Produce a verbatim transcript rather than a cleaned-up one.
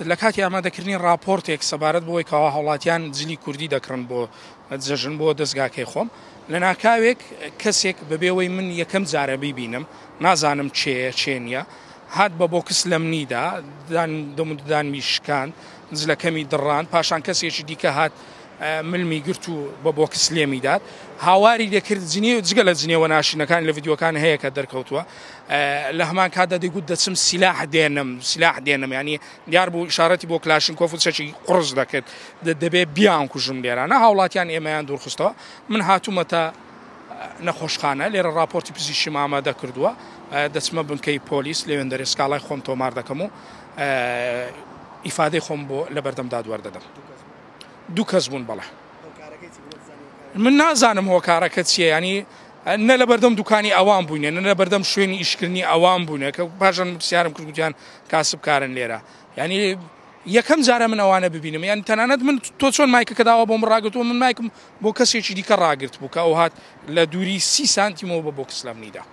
لە کاتی ئامادەکردنی ڕاپۆرتێک سەبارەت بەوەی کەوا هاوڵاتیان جلی کوردی دەکڕن بۆ جەژن بۆ دەستگاکەی خۆم، لە ناکاوێک کەسێک بەبێەوەی من یەکەم جارە بیبینم، نازانم چێیە چێ نییە، هات بە بۆکس لە منیدا، دەموددانمی شکاند، جلەکەمی دڕاند، پاشان کەسێکی دیکە هات ملمی گرت و بە بۆکس لێمی داد، هاواری لێکرد جنێو، جگە لە جنێوە ناشینەکان لە ڤیدیۆکان هەیە کە دەرکەوتووە. لە هەمان کاتدا دەیگوت دەچم سیلاح دێنم، سیلاح دێنم، ینی دیار بوو ئیشارەتی بۆ کلاشینکۆف و چەکی قوڕس دەکرد، دەبێ بیان کوژم لێرانە. هاوڵاتیان ئێمەیان دوورخستەوە. من هاتوومەتە نەخۆشخانە، لێرە راپۆرتی پزیشکیم ئامادە کردووە، دەچمە بنکەی پۆلیس لەوێندەرێ سکاڵای خۆم تۆمار دەکەم و ئیفادەی خۆم بۆ لە بەردەم دادوەر دەدەم. دوو کەس بوون بەڵێ. من نازانم هۆکارەکە چییە، ینی نە لە بەردەم دوکانی ئەوان بووینە، نە لە بەردەم شوێنی ئیشکردنی ئەوان بووینە کە پاشان پرسیارم کرد گوتیان کاسبکارن لێرە. ینی یەکەم جارە من ئەوانە ببینم، یان تەنانەت من تۆ چۆن مایکەکە داوا بۆم ڕاگرتووە، من مایکم بۆ کەسێکی دیکە ڕاگرت بوو کە ئەو هات لە دووری سی سانتیمەوە بە بۆکس لە منیدا.